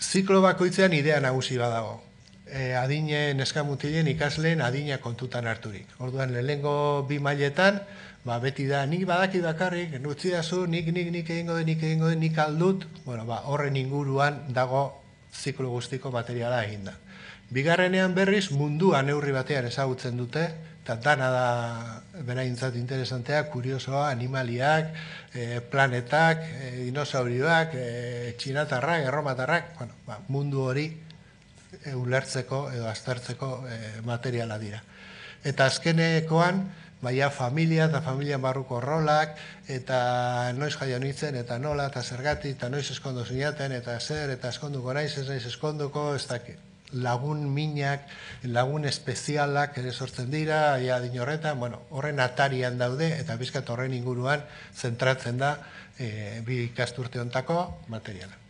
ziklo bakoitzean idea nagusi badago. Adine neskamutilen ikasleen adina kontutan harturik. Orduan, lehenengo bi mailetan, beti da, nik badaki bakarrik, nutzidazu, nik egingo den, nik aldut, horren inguruan dago ziklo guztiko materiala eginda. Bigarrenean berriz, mundua neurri batean ezagutzen dute, eta dana da beraintzat interesantea, kuriosoa, animaliak, planetak, dinosaurioak, txinatarrak, erromatarrak, mundu hori ulertzeko edo aztertzeko materiala dira. Eta azkenekoan, familia eta familia barruko rolak, eta noiz jaio nintzen, eta nola, eta zergatik, eta noiz eskondu zinaten, eta zer, eta eskonduko naiz, ez naiz eskonduko, ez dakit. Lagun minak, lagun espezialak ere sortzen dira, adin horretan, horren atarian daude, eta bizkat horren inguruan zentratzen da bi ikasturte hontako materiala.